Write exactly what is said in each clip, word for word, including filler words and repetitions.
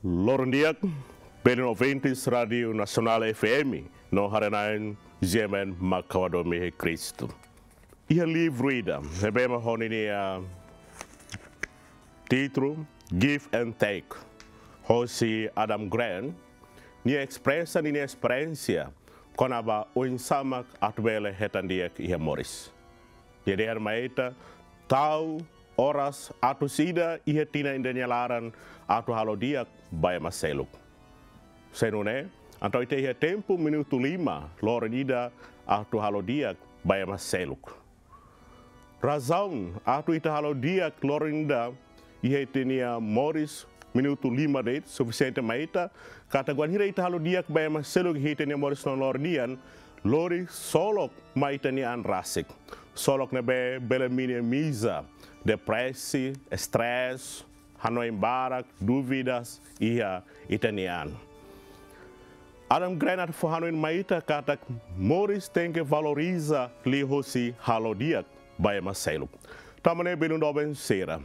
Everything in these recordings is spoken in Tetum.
Loron di'ak, belun ouvintes Rádiu Nasionál F M, no haree-na'in G M N mak ha'u hadomi iha Kristu. Iha livru ida, ne'ebé mak ho ninia títulu Give and Take, hosi Adam Grant, nia espresa ninia esperiénsia kona-ba oinsá mak atu bele hetan di'ak iha moris. Nia dehan mai ita, tau oras atus ida iha tinan ida nia laran atu halo di'ak ba ema seluk. Se nune'e, entaun ita iha tempu minutu lima loron ida atu halo di'ak ba ema seluk. Razaun atu ita halo di'ak loron ida iha ita-nia moris minutu lima de'it sufisiente mai ita, katak wainhira ita halo di'ak ba ema seluk iha ita-nia moris loron-loron nian, lori solok mai ita-nia an rasik. Solok ne'ebé bele minimiza depresi, estrés, hanoin barak, dúvidas iha ita-nia an. Adam Grant atu fó hanoin mai ita katak moris tenke valoriza liuhosi halo di'ak ba ema seluk. Tanba ne'e belun doben sira,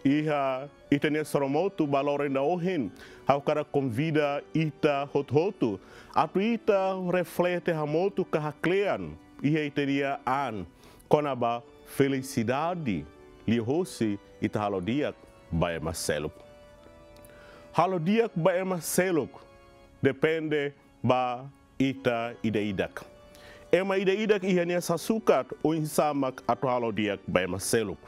iha ita-nia soromotu ba loron ida ohin, ha'u hakarak konvida ita hotu-hotu atu ita reflete hamutuk ka haklean iha ita-nia an kona-ba felisidade liuhosi ita halo di'ak ba ema seluk. Halo di'ak ba ema seluk depende ba ita ida-idak. Ema ida-idak iha nia sasukat oinsá mak atu halo di'ak ba ema seluk.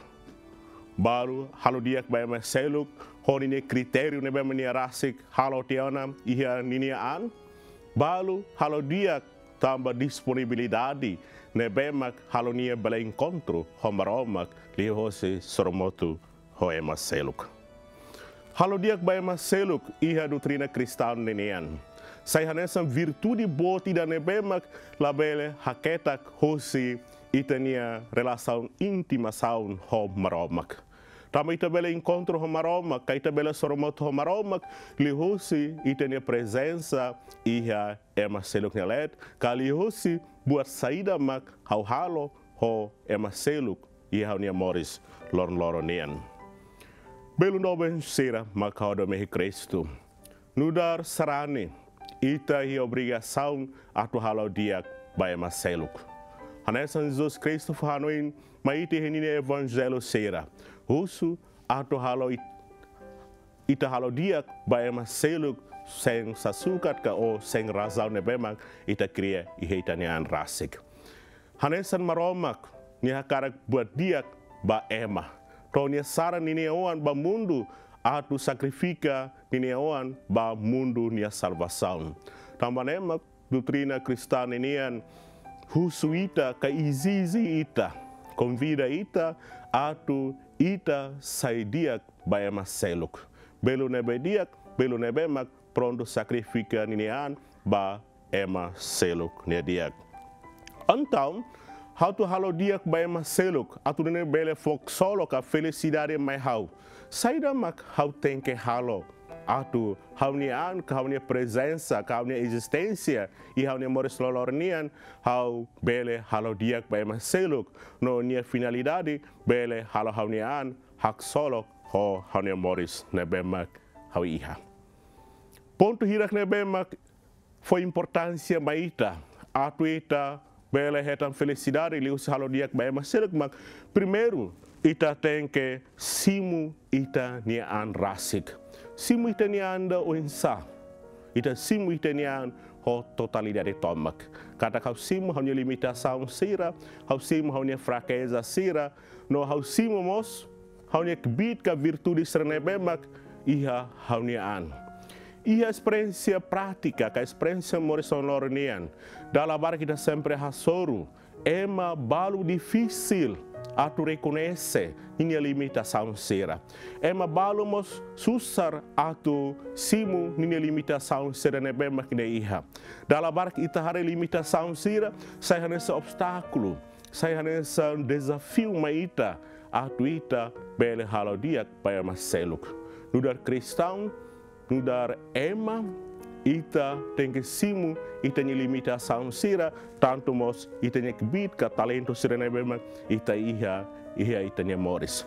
Balu halo di'ak ba ema seluk ho ninia kritériu ne'ebé mak nia rasik halo tiha ona iha ninia an. Balu halo di'ak tanba disponibilidade ne'ebé mak halo nia bele enkontru ho Maromak liuhosi soromotu ho ema seluk. Halo di'ak ba ema seluk iha doutrina kristaun ninian sai hanesan virtude boot ida ne'ebé mak labele haketak hosi ita-nia relasaun íntimasaun ho Maromak. Tanba ita bele enkontru ho Maromak, ka ita bele soromotu ho Maromak, liuhosi ita-nia prezensa iha ema seluk nia leet, ka liuhosi buat saida mak ha'u halo ho ema seluk iha ha'u-nia moris loron-loron nian. Belun doben sira mak ha'u hadomi iha Kristu. Nu'udar sarani, ita iha obrigasaun atu halo di'ak ba ema seluk. Hanesan Jesus Kristu fó hanoin mai ita iha ninia evanjellu sira. Husu atu halo it-, ita halo di'ak ba ema seluk sein sasukat ka ou sein razaun ne'ebé mak ita kria iha ita-nia an rasik. Hanesan Maromak, nia hakarak buat di'ak ba ema. To'o nia saran ninia oan ba mundu atu sakrifika ninia oan ba mundu nia salvasaun. Tanba ne'e mak doutrina kristaun ninian husu ita ka ezije ita, konvida ita atu ita sai di'ak ba ema seluk. Belun ne'ebé di'ak, belun ne'ebé mak prontu sakrifika ninia an ba ema seluk nia di'ak. Entaun, atu halo di'ak ba ema seluk, atu nune'e bele fó ksolok ka felisidade mai ha'u. Saida mak ha'u tenke halo atu ha'u-nia an, ka ha'u-nia prezensa, ka ha'u-nia ezisténsia iha ha'u-nia moris loron-loron nian, ha'u bele halo di'ak ba ema seluk, no nia finalidade bele halo ha'u-nia an haksolok ho ha'u-nia moris ne'ebé mak ha'u iha. Pontu hirak ne'ebé mak fó importánsia mai ita atu ita bele hetan felisidade liuhusi halo di'ak ba ema seluk mak, primeiru, ita tenke simu ita-nia an rasik. Simu ita-nia an ida oinsá? Ita simu ita-nia an ho totalidade tomak. Katak ha'u simu ha'u-nia limitasaun sira, ha'u simu ha'u-nia frakeza sira, no ha'u simu mós ha'u-nia kbiit ka virtude sira ne'ebé mak iha ha'u-nia an. Iha esperiénsia prátika ka esperiénsia moris loron-loron nian, dala barak ita sempre hasoru, ema balu difisil atu rekoñese ninia limitasaun sira. Ema balu mós susar atu simu ninia limitasaun sira ne'ebé mak nia iha. Dala barak ita haree limitasaun sira sai hanesan obstákulu, sai hanesan dezafiu mai ita atu ita bele halo di'ak ba ema seluk. Nu'udar kristaun, nu'udar ema, ita tenke simu ita-nia limitasaun sira, tantu mós ita-nia kbiit ka talentu sira ne'ebé mak ita iha, iha ita-nia moris.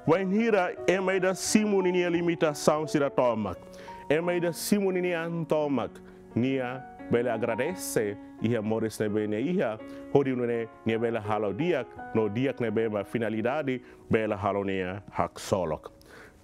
Wainhira ema ida simu ninia limitasaun sira tomak, ema ida simu ninia an tomak, nia bele agradese iha moris ne'ebé nia iha, hodi nune'e nia bele halo di'ak, no di'ak ne'ebé mak finalidade bele halo nia haksolok.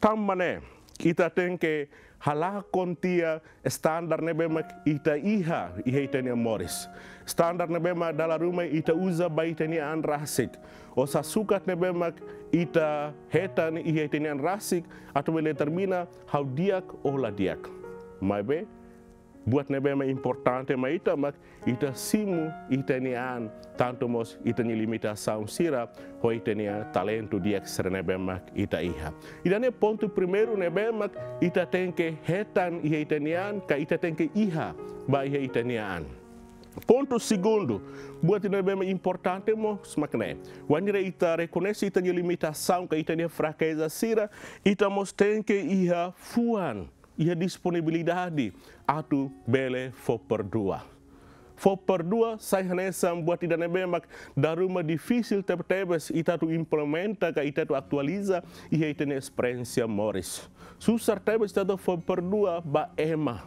Tanba ne'e, ita tenke halakon tiha standar ne'ebé mak ita iha, iha ita-nia moris. Standar ne'ebé mak dala ruma ita uza ba ita-nia an rasik. Ou sasukat ne'ebé mak ita hetan iha ita-nia an rasik, atu bele determina ha'u di'ak ou la di'ak. Maibé, buat ne'ebé mak importante mai ita mak ita simu ita-nia an, tantu mós ita-nia limitasaun sira, ho ita-nia talentu di'ak sira ne'ebé mak ita iha. Ida-ne'e pontu primeiru ne'ebé mak ita tenke hetan iha ita-nia an, ka ita tenke iha ba iha ita-nia an. Pontu segundu, buat ida ne'ebé mak importante mós mak ne'e. Wainhira ita rekoñese ita-nia limitasaun ka ita-nia frakeza sira, ita mós tenke iha fuan, iha disponibilidade atu bele fó perdua. Fó perdua sai hanesan buat ida ne'ebé mak dala ruma difisil tebetebes ita atu implementa ka ita atu atualiza iha ita-nia esperiénsia moris. Susar tebes ita atu fó perdua ba ema.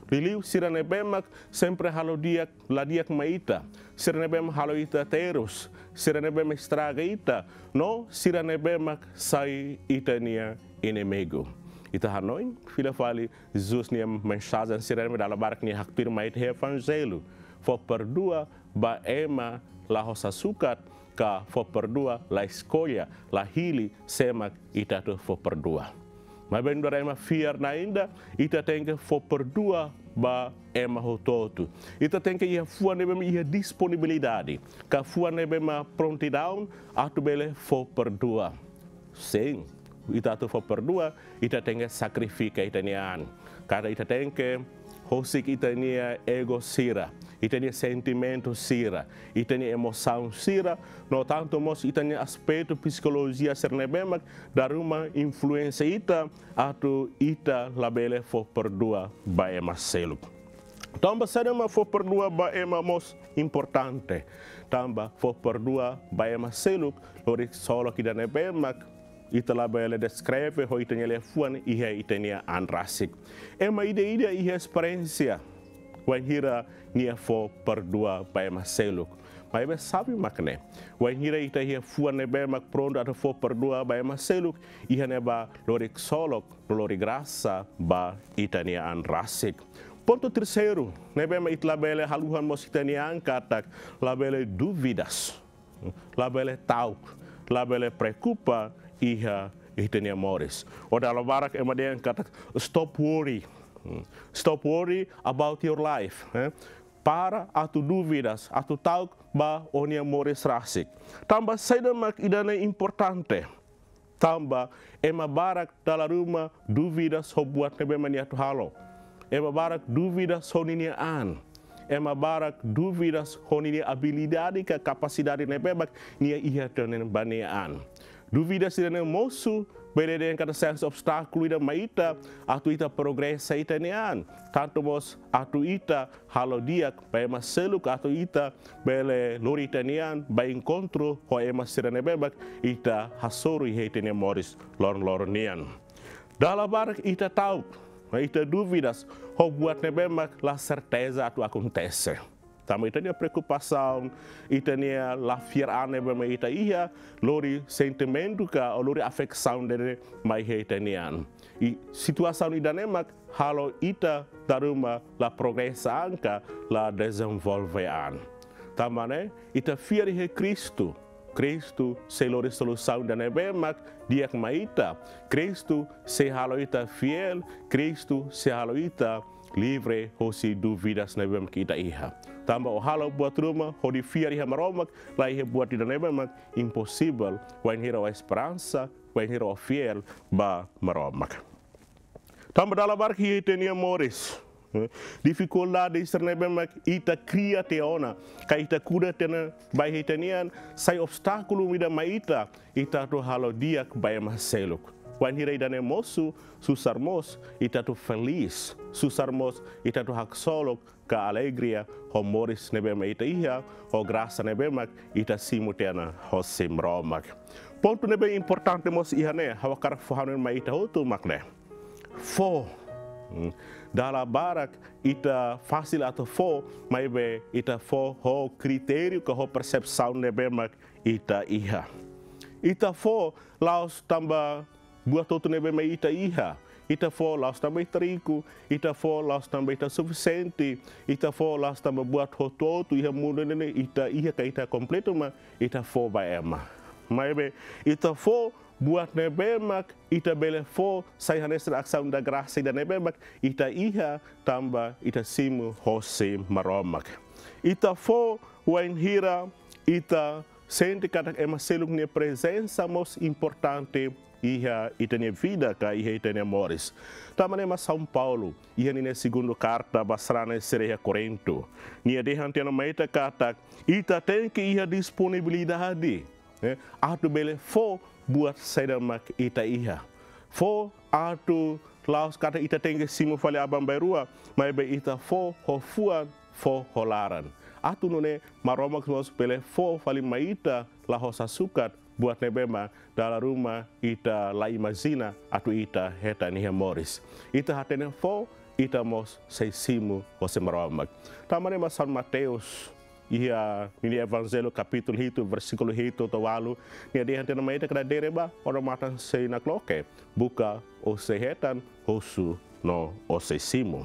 Liuliu sira ne'ebé mak sempre halo di'ak, la di'ak mai ita. Sira ne'ebé mak halo ita terus. Sira ne'ebé mak estraga ita. No sira ne'ebé mak sai ita-nia inimigu. Ita hanoin, fila fali Jesus nia mensajen sira ne'ebé dala barak nia haktuir mai ita iha Evanjellu. Fó perdua ba ema la ho sasukat, ka fó perdua la eskolla, la hili sé mak ita atu fó perdua. Maibé nu'udar ema fiar na'in ida, ita tenke fó perdua ba ema hotu-hotu. Ita tenke iha fuan ne'ebé mak iha disponibilidade, ka fuan ne'ebé mak prontidaun atu bele fó perdua. Sin, ita atu fó perdua, ita tenke sakrifika ita-nia an. Katak ita tenke husik ita-nia ego sira, ita-nia sentimentu sira, ita-nia emosaun sira, no tantu mós ita-nia aspetu psikolojia sira ne'ebé mak dala ruma influénsia ita atu ita labele fó perdua ba ema seluk. Tanba saida mak fó perdua ba ema mós importante? Tanba fó perdua ba ema seluk lori ksolok ida ne'ebé mak ita labele deskreve ho ita-nia liafuan iha ita-nia an rasik. Ema ida-idak iha esperiénsia wainhira nia fó perdua ba ema seluk. Maibé xave mak ne'e. Wainhira ita iha fuan ne'ebé mak prontu atu fó perdua ba ema seluk, iha ne'ebá lori ksolok, lori grasa ba ita-nia an rasik. Pontu terseiru ne'ebé mak ita labele haluha mós ita-nia an katak labele dúvidas, labele ta'uk, labele preokupa iha ita-nia moris. Ou dala barak ema dehan katak stop worry. Hmm. Stop worry about your life, eh? Para atu dúvidas, atu ta'uk ba ó-nia moris rasik. Tanba saida mak ida-ne'e importante? Tanba ema barak dala ruma dúvidas ho buat ne'ebé mak nia atu halo. Ema barak dúvidas ho ninia an. Ema barak dúvidas ho ninia abilidade ka kapasidade ne'ebé mak nia iha tiha ona ba nia an. Dúvidas ida-ne'e mosu bele dehan katak sai hanesan obstákulu ida mai ita atu ita progresa ita-nia an. Tantu mós atu ita halo di'ak ba ema seluk, atu ita bele lori ita-nia an ba enkontru ho ema sira ne'ebé mak ita hasoru iha ita-nia moris loron-loron nian. Dala barak ita ta'uk, ita dúvidas ho buat ne'ebé mak la serteza atu akontese. Tanba ita-nia preokupasaun, ita-nia la fiar an ne'ebé mak ita iha, lori sentimentu ka, ou lori afeksaun ida-ne'e mai iha ita-nia an. I situasaun ida-ne'e mak halo ita dala ruma la progresa an ka la dezenvolve an. Tanba ne'e, ita fiar iha Kristu. Kristu sei lori solusaun ida ne'ebé mak di'ak mai ita. Kristu sei halo ita fiél, Kristu sei halo ita livre hosi dúvidas ne'ebé mak ita iha. Tanba ó halo buat ruma hodi fiar iha Maromak, la iha buat ida ne'ebé mak imposivel, wainhira ó esperansa, wainhira ó fiél ba Maromak. Tanba dala barak iha ita-nia moris, Difikuldade sira ne'ebé mak ita kria tiha ona, ka ita kuda tiha ona ba ita-nian, sai obstákulu ida mai ita, ita atu halo di'ak ba ema seluk. Wainhira ida-ne'e mosu, susar mós ita atu felís, susar mós ita atu haksolok ka alegria ho moris ne'ebé mak ita iha, ho grasa ne'ebé mak ita simu tiha ona hosi Maromak. Pontu ne'ebé importante mós iha ne'e, ha'u hakarak fó hanoin mai ita hotu mak ne'e. Fó. Hmm. Dala barak ita fasil atu fó, maibé ita fó ho kritériu ka ho persepsaun ne'ebé mak ita iha. Ita fó la'ós tanba buat hotu ne'ebé mak ita iha. Ita fó la'ós tanba ita riku, ita fó la'ós tanba ita sufisiente, ita fó la'ós tanba buat hotu-hotu iha mundu ne'e ita iha ka ita kompletu, mas ita fó ba ema. Maibé ita fó buat ne'ebé mak ita bele fó sai hanesan asaun da grasa ida ne'ebé mak ita iha tanba ita simu hosi Maromak. Ita fó wainhira ita sente katak ema seluk nia prezensa mós importante iha ita-nia vida ka iha ita-nia moris. Tanba ne'e mak São Paulo iha ninia segundu karta ba sarani sira iha Korintu, nia dehan tiha ona mai ita katak ita tenke iha disponibilidade, eh, atu bele fó buat saida mak ita iha. Fó atu la'ós katak ita tenke simu fali aban bainrua, maibé ita fó ho fuan, fó ho laran. Atu nune'e Maromak mós bele fó fali mai ita la ho sasukat buat ne'ebé mak dala ruma ita la imajina atu ita hetan iha moris. Ita hatene fó, ita mós sei simu hosi Maromak. Tanba ne'e mak São Mateus iha ninia Evanjellu kapítulu hitu, versíkulu hitu to'o ualu, nia dehan tiha ona mai ita katak: Dere bá, odamatan sei nakloke, buka, ó sei hetan, husu, no ó sei simu.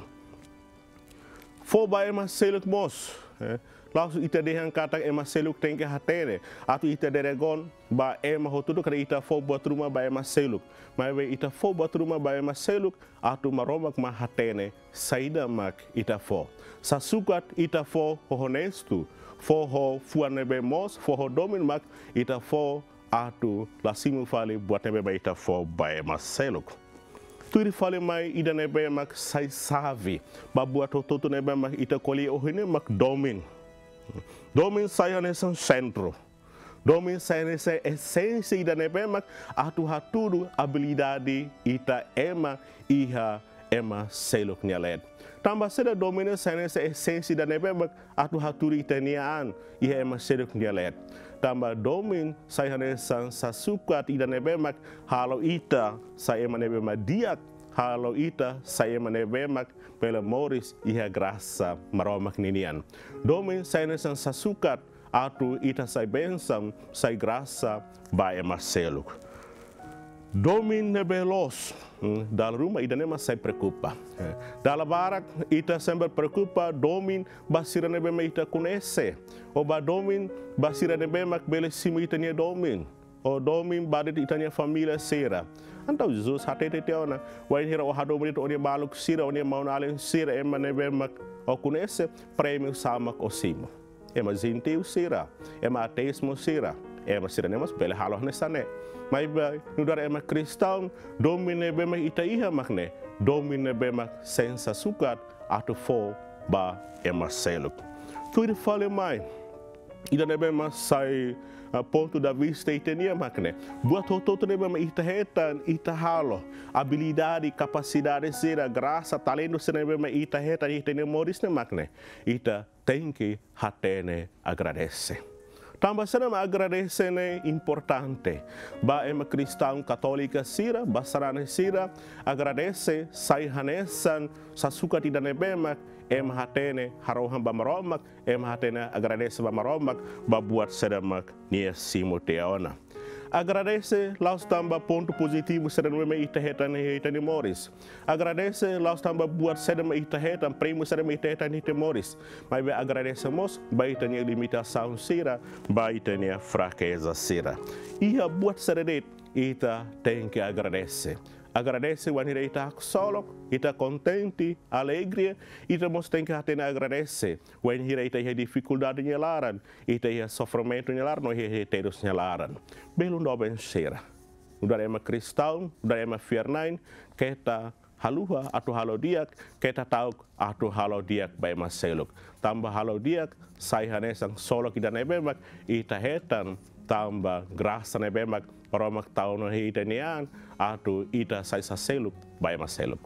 Fó ba ema seluk mós, eh, la'ós ita dehan katak ema seluk tenke hatene, atu ita deregon ba ema hotu-hotu katak ita fó buat ruma ba ema seluk. Maibé ita fó buat ruma ba ema seluk, atu Maromak mak hatene saida mak ita fó. Sasukat ita fó ho onestu, fó ho fuan ne'ebé moos, fó ho domin mak ita fó, atu la simu fali buat ne'ebé mak ita fó ba ema seluk. Tuir fali mai ida ne'ebé mak sai xave ba buat hotu-hotu ne'ebé mak ita ko'alia ohin ne'e mak domin. Domin sai hanesan sentru. Domin sai hanesan esénsia ida ne'ebé mak atu hatudu abilidade ita ema iha ema seluk nia leet. Tanba saida domin sai hanesan esénsia ida ne'ebé mak atu hatudu ita-nia an iha ema seluk nia leet? Tanba domin sai hanesan sasukat ida ne'ebé mak halo ita sai ema ne'ebé mak di'ak, halo ita sai ema ne'ebé mak bele moris iha grasa Maromak ninian. Domin sai hanesan sasukat atu ita sai bensaun, sai grasa ba ema seluk. Domin ne'ebé loos, hmm, dala ruma ida-ne'e mak sai preokupa. Eh, dala barak ita sempre preokupa domin ba sira ne'ebé mak ita koñese, ou ba domin ba sira ne'ebé mak bele simu ita-nia domin, ou domin ba de'it ita-nia família sira. Entaun Jesus hatete tiha ona, wainhira ó hadomi de'it ó-nia maluk sira, ó-nia maun-alin sira, ema ne'ebé mak ó koñese, prémiu sá mak ó simu? Ema jentiu sira, ema ateus mós sira, ema sira-ne'e mós bele halo hanesan ne'e. Maibé nu'udar ema kristaun, domin ne'ebé mak ita iha mak ne'e, domin ne'ebé mak sente sasukat atu fó ba ema seluk. Tuir fali mai, ida ne'ebé mak sai, ah, pontu de vista ita-nian mak ne'e, buat hotu-hotu ne'ebé mak ita hetan, ita halo, abilidade, kapasidade sira, grasa, talentu sira ne'ebé mak ita hetan iha ita-nia moris ne'e mak ne'e, ita tenke hatene agradese. Tanba saida mak agradese ne'e importante? Ba ema kristaun katólika sira, ba sarani sira, agradese sai hanesan sasukat ida ne'ebé mak ema hatene harohan ba Maromak, ema hatene agradese ba Maromak ba buat saida mak nia simu tiha ona. Agradese la'ós tanba pontu pozitivu saida ne'ebé mak ita hetan iha ita-nia moris. Agradese la'ós tanba buat saida mak ita hetan, prémiu saida mak ita hetan iha ita-nia moris. Maibé agradese mós ba ita-nia limitasaun sira, ba ita-nia frakeza sira. Iha buat saida de'it ita tenke agradese. Agradese wainhira ita haksolok, ita kontente, alegre, ita mós tenke hatene agradese wainhira ita iha difikuldade nia laran, ita iha sofrimentu nia laran, no iha terus nia laran. Belun doben sira, nu'udar ema kristaun, nu'udar ema fiar-na'in, keta haluha atu halo di'ak, keta ta'uk atu halo di'ak ba ema seluk. Tanba halo di'ak sai hanesan solok ida ne'ebé mak ita hetan tanba grasa ne'ebé mak Maromak tau ona iha ita-nia an, atu ita sai sá seluk ba ema seluk.